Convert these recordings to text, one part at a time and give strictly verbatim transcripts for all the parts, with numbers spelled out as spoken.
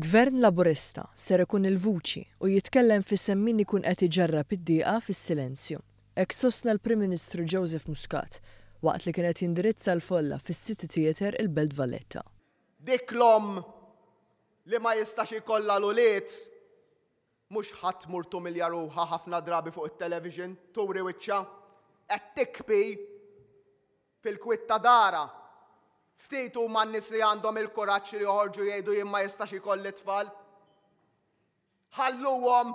Gvern Laburista ser ikun il-vuċi u jitkellem f'isem min ikun qed iġarrab id-dieqa fis-silenzju. Hekk sostna l-Prim Ministru Joseph Muscat waqt li kien qed jindirizza l-folla fis-City Theatre, il-Belt Valletta. Dik l-omm li ma jistax ikollha l-ulied mhux ħa tmur tumilja ruħha ħafna drabi fuq it-television, turi wiċċha, qed tibki fil-kwiet ta' darha. Ftit huma n-nies li għandhom il-kuraġġ li joħorġu jgħidu, "Jien ma jistax ikolli tfal." Ħalluhom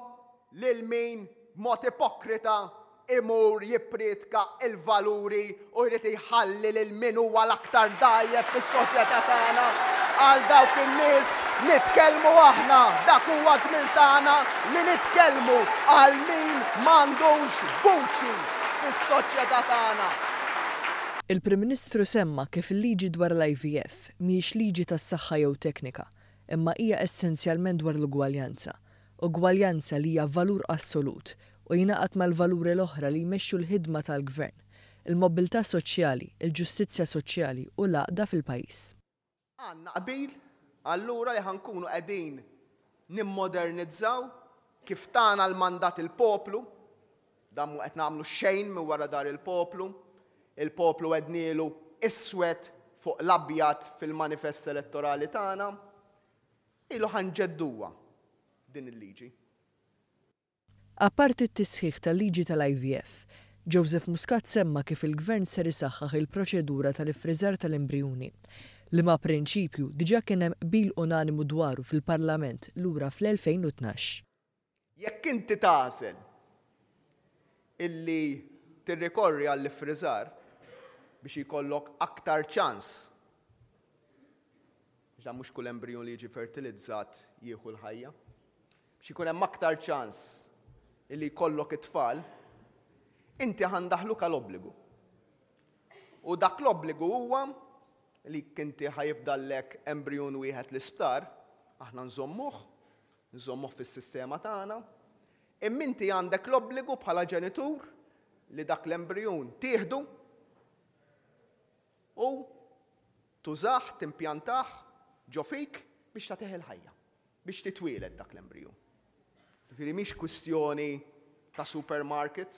lil min mod ipokrita imur jippriedka il-valuri u jrid jħalli lil min huwa l-aktar dgħajjef fis-soċjetà tagħna. Għal dawk in-nies nitkellmu aħna, dak huwa dmir tagħna li nitkellmu għal min m'għandux vuċi fis-soċjetà tagħna. Il-Prim Ministru semma kif il-liġi dwar l-I V F mhijiex liġi tas-saħħa jew teknika, imma hija essenzjalment dwar l-ugwaljanza. Ugwaljanza li hija valur assolut u jingħaqad mal-valuri l-oħra li jmexxu l-ħidma tal-gvern, il-mobilità soċjali, il-ġustizzja soċjali u l-għaqda fil-pajjiż. Għandna qbil allura li ħa nkunu qegħdin nimmodernizzaw kif tana l-mandat il-poplu, dan mhu qed nagħmlu xejn minn wara dahar il-poplu, il-poplu għednielu iswed fuq l-abjad fil-manifest elettorali tagħna, ilu ħa nġedduha din il-liġi. Apparti t-tisħiħ tal-liġi tal-I V F, Joseph Muscat semma kif il-gvern ser isaħħaħ il-proċedura tal-ifriżar tal-embrijuni, liema prinċipju diġà kien hemm qbil unanimu dwaru fil-Parlament lura fl-elfejn u tnax. Jekk inti tagħżel illi tirrikorri għall-ifriżar biex jkollok aktar ċans, biex mhux kull embrijun li jiġi fertilizzat jieħu l-ħajja, biex ikun hemm aktar ċans illi jkollok it-tfal, inti ħa ndaħħluk għal obbligu. U dak l-obbligu huwa li inti ħa jifdallek embrijun wieħed l-isptar, aħna nżommuh, nżommuh fis-sistema tagħna, imma inti għandek l-obbligu bħala ġenitur li dak l-embrijun tieħdu u tużah, timpjantah ġo fik biex tagħtih il-ħajja, biex titwieled dak l-embrijun. Ġifieri mhix kwistjoni ta' supermarket,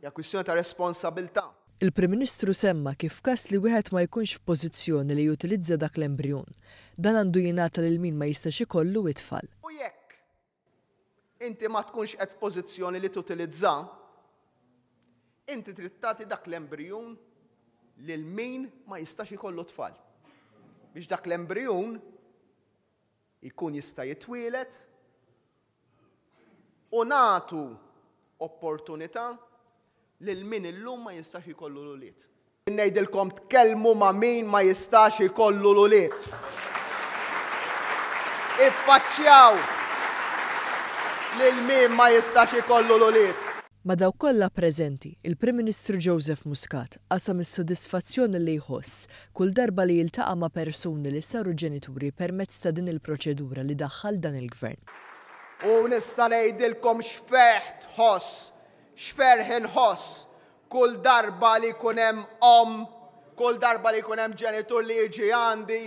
hija kwistjoni ta' responsabilità. Il-Prim Ministru semma kif każ li wieħed ma jkunx f'pożizzjoni li jutilizza dak l-embrijun, dan għandu jingħata lil min ma jistax ikollu it-tfal. U jekk inti ma tkunx qed f'pożizzjoni li tutilizza, inti trid tagħti dak l-embrijun lil min ma jistax ikollu tfal. Biex dak l-embrijun jkun jista' jitwielet u nagħtu opportunità lil min illum ma jistax ikollu l-ulied. Ngħidilkom, tkellmu ma' min ma jistax ikollu l-ulied. Iffaċċjaw lil min ma jistax ikollu l-ulied. Ma' dawk kollha preżenti, il-Prim Ministru Joseph Muscat qasam is-sodisfazzjoni li jħoss kull darba li jiltaqa' ma' persuni li saru ġenituri permezz ta' din il-proċedura li daħħal dan il-gvern. U nista' ngħidilkom x'ferħ tħoss, x'ferħ inħoss kull darba li jkun hemm omm, kull darba li jkun hemm ġenitur li jiġi għandi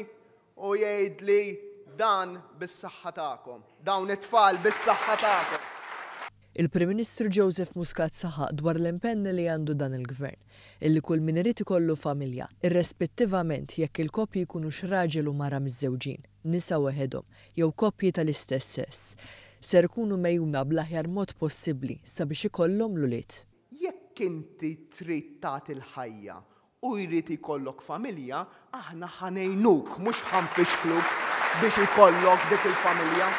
u jgħidli, "Dan bis-saħħa tagħkom, dawn it-tfal bis-saħħa tagħkom." Il-Prim Ministru Joseph Muscat saħaq dwar l-impenn li għandu dan il-gvern, illi kull min irid ikollu familja, irrispettivament jekk il-koppji jkunux raġel u mara miżżewġin, nisa waħedhom, jew koppji tal-istess sess, ser ikunu megħjuna bl-aħjar mod possibbli sabiex ikollhom l-ulied. Jekk inti trid tagħti l-ħajja u jrid ikollok familja, aħna ħa ngħinuk, mhux ħa nfixkluk biex ikollok dik il-familja.